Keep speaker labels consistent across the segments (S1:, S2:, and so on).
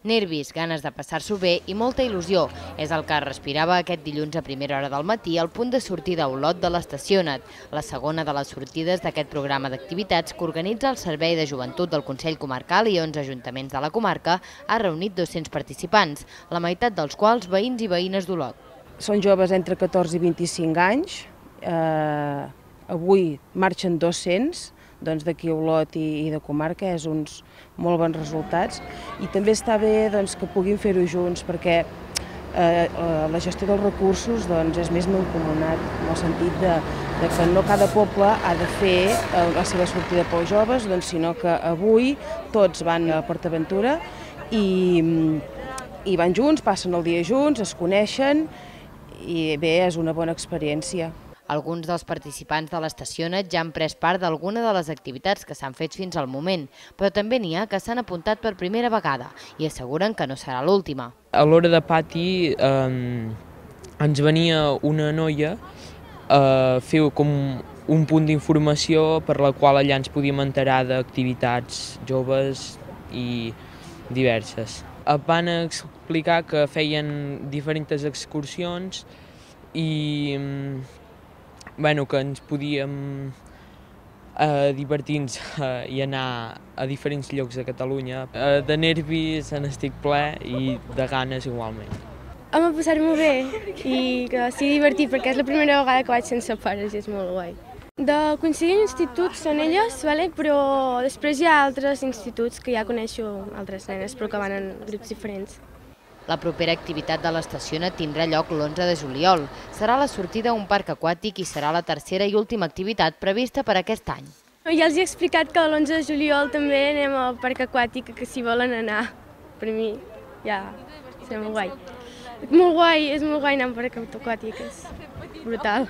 S1: Nervis, ganes de passar-s'ho bé i molta il·lusió. És el que respirava aquest dilluns a primera hora del matí al punt de sortida a Olot de l'Estacionet, la segona de les sortides d'aquest programa d'activitats que organitza el Servei de Joventut del Consell Comarcal i 11 ajuntaments de la comarca. Ha reunit 200 participants, la meitat dels quals veïns i veïnes d'Olot.
S2: Són joves entre 14 i 25 anys, avui marxen 200, d'aquí a Olot i de comarca, és uns molt bons resultats. I també està bé que puguin fer-ho junts, perquè la gestió dels recursos és més mancomunat, en el sentit que no cada poble ha de fer la seva sortida pels joves, sinó que avui tots van a PortAventura i van junts, passen el dia junts, es coneixen i bé, és una bona experiència.
S1: Alguns dels participants de l'Estacionet ja han pres part d'alguna de les activitats que s'han fet fins al moment, però també n'hi ha que s'han apuntat per primera vegada i asseguren que no serà l'última.
S3: A l'hora de pati ens venia una noia a fer com un punt d'informació per la qual allà ens podíem enterar d'activitats joves i diverses. Van explicar que feien diferents excursions i que ens podíem divertir-nos i anar a diferents llocs de Catalunya. De nervis n'estic ple i de ganes igualment.
S4: Home, passar-m'ho bé i que sigui divertit perquè és la primera vegada que vaig sense pares i és molt guai. De coincidir en instituts són elles, però després hi ha altres instituts que ja coneixo altres nenes però que van en grups diferents.
S1: La propera activitat de l'Estacionet tindrà lloc l'11 de juliol. Serà la sortida a un parc aquàtic i serà la tercera i última activitat prevista per aquest any.
S4: Ja els he explicat que l'11 de juliol també anem al parc aquàtic, que s'hi volen anar. Per mi ja serà molt guai. És molt guai anar al parc aquàtic, és brutal.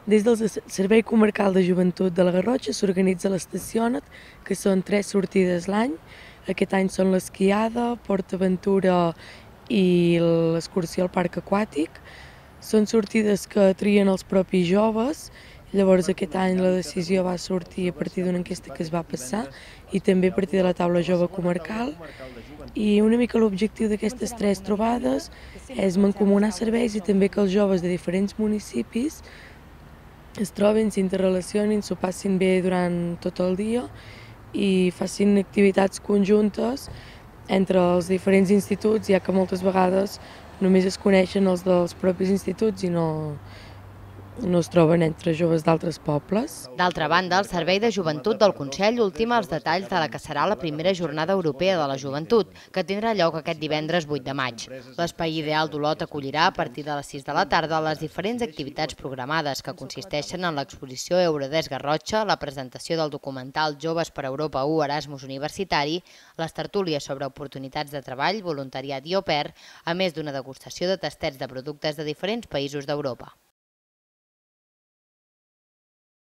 S5: Des del Servei Comarcal de Joventut de la Garrotxa s'organitza l'Estacionet, que són 3 sortides l'any. Aquest any són l'esquiada, PortAventura i l'excursió al parc aquàtic. Són sortides que trien els propis joves, llavors aquest any la decisió va sortir a partir d'una enquesta que es va passar i també a partir de la taula jove comarcal. I una mica l'objectiu d'aquestes 3 trobades és mancomunar serveis i també que els joves de diferents municipis es trobin, s'interrelacionin, s'ho passin bé durant tot el dia i facin activitats conjuntes entre els diferents instituts, ja que moltes vegades només es coneixen els dels propis instituts i no es troben entre joves d'altres pobles.
S1: D'altra banda, el Servei de Joventut del Consell ultima els detalls de la que serà la primera Jornada Europea de la Joventut, que tindrà lloc aquest divendres 8 de maig. L'Espai Ideal d'Olot acollirà a partir de les 6 de la tarda les diferents activitats programades, que consisteixen en l'exposició Eurodesc Garrotxa, la presentació del documental Joves per Europa 1 Erasmus Universitari, les tertúlies sobre oportunitats de treball, voluntariat i au pair, a més d'una degustació de tastets de productes de diferents països d'Europa.